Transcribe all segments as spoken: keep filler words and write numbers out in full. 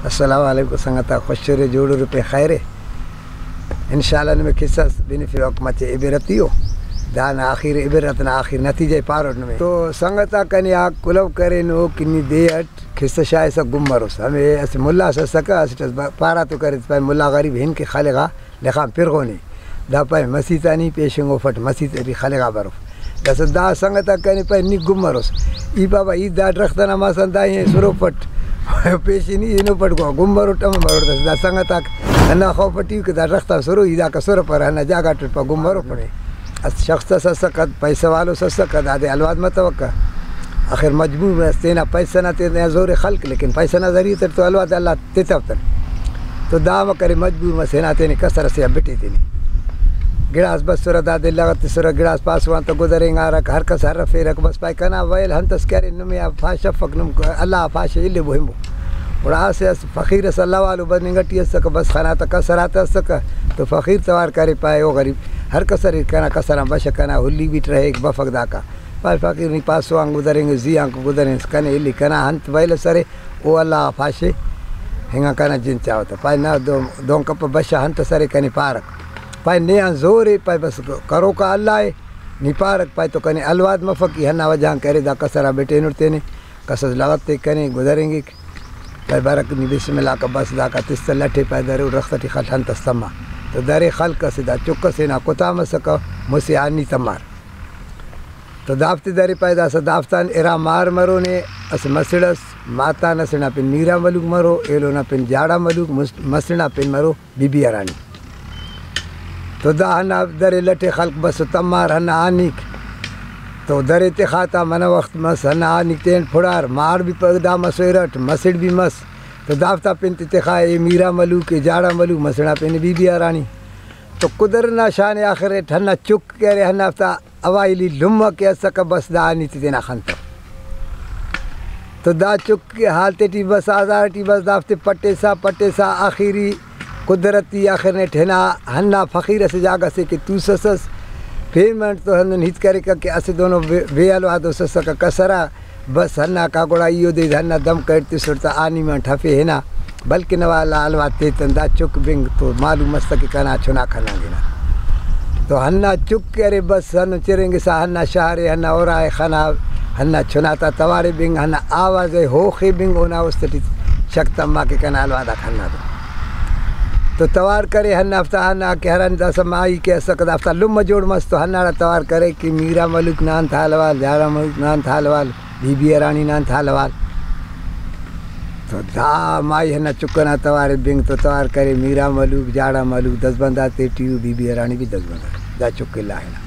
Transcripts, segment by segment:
السلام علیکم سنگتاک، خوش ارے، جوڑ ارے، پین خیر ءِ۔ انشاءاللہ نمے قصہ اس بنفوک، مچہ عبرتی ءُ۔ دانا آخر، عبرت نا آخر نتیجہ ءِ پاروٹ نمے۔ تو سنگتاک، کنے آ کلہو کرینو کہ نی دے اٹ قصہ شاغسہ گم مروس۔ ہمے اسہ ملا اس اسکہ، اسٹ اس با-، پارہ تو کرے، پائے ملا غریب ہن کہ خلغا لخان پرغونے۔ دا پائے مسیت آ نی پیشنگ اوفٹ، مسیت ٹی خلغا بروف۔ داسہ دا سنگت آک کنے پائے نی گم مروس۔ ای بابا، ای دا درخت ئنا مسان، دا ای سروفٹ۔ پیشن ای ہنوفٹ، گوا گم مروٹ، امر مروٹ۔ داسہ دا سنگت آک ہندا خوف ٹی کہ دا درخت آن سرو، ای داکا سرپرہ، ہندا جاگہ ٹی پا گم مروفنے۔ اسہ شخص اس اسکہ، پیسہ والوس اسکہ، دادے الواد متوکہ۔ آخر مجبور مس، تینا پیسہ نا، تینا زور ئے خلک، لیکن پیسہ نا ذریعہ تیٹ تو الواد اللہ تتو تن۔ تو دا امر کرے، مجبور مس ہنا تینے کسر ئسے آ بٹے تینے۔ گڑاس بسرہ، دادے لغتسرہ، گڑاس پاسو آن تہ گدرینگارک، ہر کس ہرفیرک، بس پائے کنا ویل ہنتس کہ ارے، نمے آ پاش افک، نم اللہ آ پاش الیبو ہنبو۔ گڑا اسہ اس فقیر ئس اللہ والو بننگ ٹی اسکہ، بس خنا تہ کسر آتہ اسکہ، تو فقیر توار کرے، پائے او غریب، ہر کس اریر، کنا کسر آن بشہ، کنا ہلی بیٹ رہیک، بفک داکا۔ پائے فقیر، نی پاسو آن گدرینگ، زی آنکو گدرینس، کنے الی، کنا انت ویل ئس ارے، او اللہ غا پاشے، ہنگا کنا جند چاوہ تہ۔ پائے نا دو-، دہن کپہ، بشہ، انت ئس ارے کنے پارک۔ پائے نے آن زور ءِ، پائے بس کروکا اللہ ءِ، نی پارک۔ پائے تو کنے الواد مفک، ای ہندا وجہ آن کہ ارے دا کسر آ بٹینٹ تینے، کس ئس لغت ءِ کنے گدرینگک۔ پائے بارک نی بسم اللہ کہ بس داکا تس تہ لٹ ءِ، پائے درے او درخت ٹی خل، انت ئس تما۔ تو درے خلک ئسے، دا چک ئسے نا کتا مسکہ، مسہ آ نی تمار۔ تو دافتے درے، پائے داسہ دافتان ارا مار مرو نے، اسہ مسڑ ئس، ماتان اسڑ نا پن میرا ملوک مرو، ایلو نا پن جاڑا ملوک، مس-، مسڑ نا پن مرو بی بی ہرانی۔ تو دا ہندا درے لٹ ءِ خلک بسو تمار ہندا آنیک۔ تو درے تخا تا منہ وخت مس، ہندا آنیک تین پھڑار، مار بھی پدا مسو ارٹ، مسڑ بھی مس۔ تو دافتا پن تے تخا اے میرا ملوک، اے جاڑا ملوک، مسڑ نا پن بی بی ہرانی۔ تو قدرت نا شان ءِ آخر اٹ ہندا چک کہ ارے ہندافتا اوائلی لمہ کہ اسکہ، بس دا آنی تے تینا خنتو۔ تو دا چک کہ حال تیٹی بس، آزار ٹی بس، دافتے پٹیسا پٹیسا آخری قدرتی آخر نیٹ ہنا ہندا فقیر اسہ جاگہ سے کہ توسسس، پیمنٹ تو ہندن ہیت کریکہ کہ اسہ دونو بے، بے الوادوس اسکہ کسرا۔ بس ہنداکا گڑا ای اودے ہندا دم کیٹ تسٹ تہ آنی منٹ ہفے ہنا، بلکن نوا اللہ الواد تیتن دا چک بنگ تو معلوم مس تہ کہ کنا چناک ہنانگ ہنا۔ تو ہندا چک کہ ارے بس ہندن چرینگسا ہندا شار ءِ، ہندا ارا ءِ خنا، ہندا چنا تا توار ءِ بنگ، ہندا آواز ءِ ہوخ ءِ بنگ، اونا است ٹی شک تما کہ کنا الواد آک ہندا دو۔ تو توار کرے ہندافتا، ہندا کہ ہرا داسہ ماہی کہ اسکہ دافتا لمہ جوڑ مس تو ہنداڑا توار کرے کہ میرا ملوک نا انت حال احوال، جاڑا ملوک نا انت حال احوال۔ بی بی ہرانی نا انت حال احوال؟ تو دا مائی ہندا چک ئنا توار ءِ بنگ تو توار کرے، میرا ملوک، جاڑا ملوک دزبند آتے ٹی ءُ، بی بی ہرانی بھی دزبند آتے۔ دا چک الا ہنا۔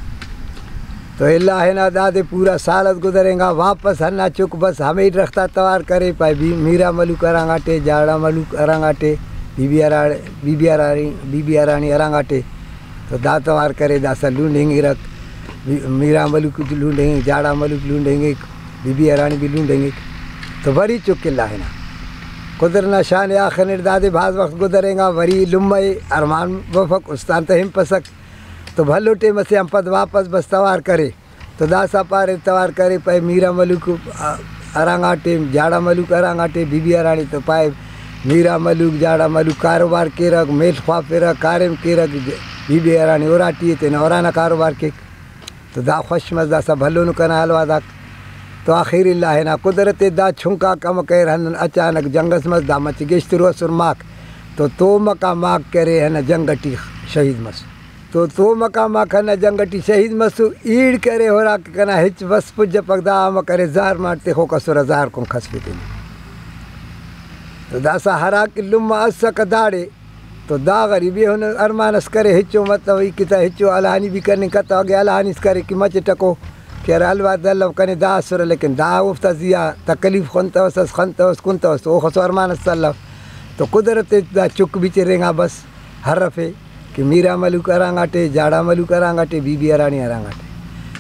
تو الا ہنا دادے پورا سال اس گزرینگا، واپس ہندا چک بس ہمے درخت آ توار کرے، پائے بی-، میرا ملوک ہرانگاٹے، جاڑا ملوک ہرانگاٹے، بی بی ہرا-، بی بی ہرانی، بی بی ہرانی ہرانگاٹے۔ تو دا توار کرے، داسہ لونڈ ہنگرک، میرا ملوک لونڈ ہنگ، جاڑا ملوک لونڈ ہنگک، بی بی ہرانی بھی لونڈ ہنگک۔ تو وری چک الا ہنا۔ قدرت نا شان ءِ آخر نیٹ دادے بھاز وخت گدرینگا، وری لمہ ءِ ارمان بفک، استان تہ ہنپسک۔ تو بھلو ٹائم اسے آن پد واپس بس توار کرے۔ تو داسہ پارے توار کرے، پائے میرا ملوک ہرانگاٹے، جاڑا ملوک ہرانگاٹے، بی بی ہرانی تو پائے میرا ملوک، جاڑا ملوک کاروبار کیرک، میڷ خوافرہ، کاریم کیرک، بی بی ہرانی اراٹی ءِ، تینا ارانا کاروبار کیک۔ تو دا خوش مس، داسہ بھلونو کنا حال وعداک۔ تو آخر اللہ ہنا قدرت ءِ دا چنکاک امر کریر، ہندن اچانک جنگ اس مس، دا مچہ گیشترو ئسر ماک۔ تو تومکا ماک کرے ہندا جنگ ٹی شہید مس۔ تو تومکا ماک ہندا جنگ ٹی شہید مسو، ایڑ کرے ہراک کنا ہچ وس پجپک، دا امر کرے زہر ماٹ تخوک ئسرہ، زہر کن کھسفے تینے۔ تو داسہ ہراکہ لمہ اسکہ داڑے، تو دا غریب ایہن ارمان اس کرے، ہچو مطلب ای کہ تا ہچو الہانی بھی کننگ کتو، اگہ الہانی اس کرے کہ مچہ ٹکو کہ ارے الوا دلو کنے دا اسرہ، لیکن دا اوفتا زیہا تکلیف خنتوس، اس خنتوس، کنتوس، تو اوخسو ارمان اس الو۔ تو قدرت ءِ دا چک بھی چرینگا بس ہرفے کہ میرا ملوک ہرانگاٹے، جاڑا ملوک ہرانگاٹے، بی بی ہرانی ہرانگاٹے۔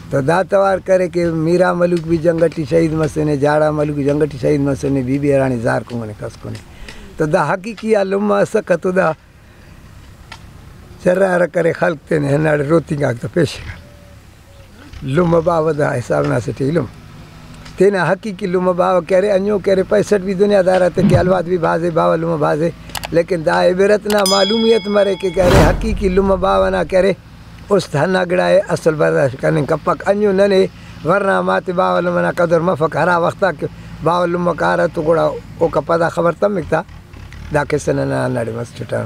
تو دا توار کرے کہ میرا ملوک بھی جنگ ٹی شہید مسنے، جاڑا ملوک جنگ ٹی شہید مسنے، بی بی ہرانی زہر کنگنے کس کنے۔ تو دا حقیقی آ لمہ اسکہ، تو دا چرارہ کرے خلق تینے ہنداڑے روتینگاک تہ پیشنگا۔ لمہ باوہ دا حساب نا اسٹ ایلم۔ تینا حقیقی لمہ باوہ کہ ارے، انجو کہ ارے، پیسٹ بھی دنیا دار آتے کہ الواد بھی بھازے، باوہ لمہ بھازے، لیکن دا عبرت نا معلومیت مرے کہ، کہ ارے، حقیقی لمہ باوہ نا کہ ارے، است ہندا گڑا ءِ، اصل برداشت کننگ کپک۔ انجو ننے ورنا ہم آتے باوہ لمہ نا قدر مفک، ہرا وخت آ کہ باوہ لمہ کارہ تو گڑا اوکا پدا خبر تمک تا، دا قصہ ننا ہنداڑے مس چٹا۔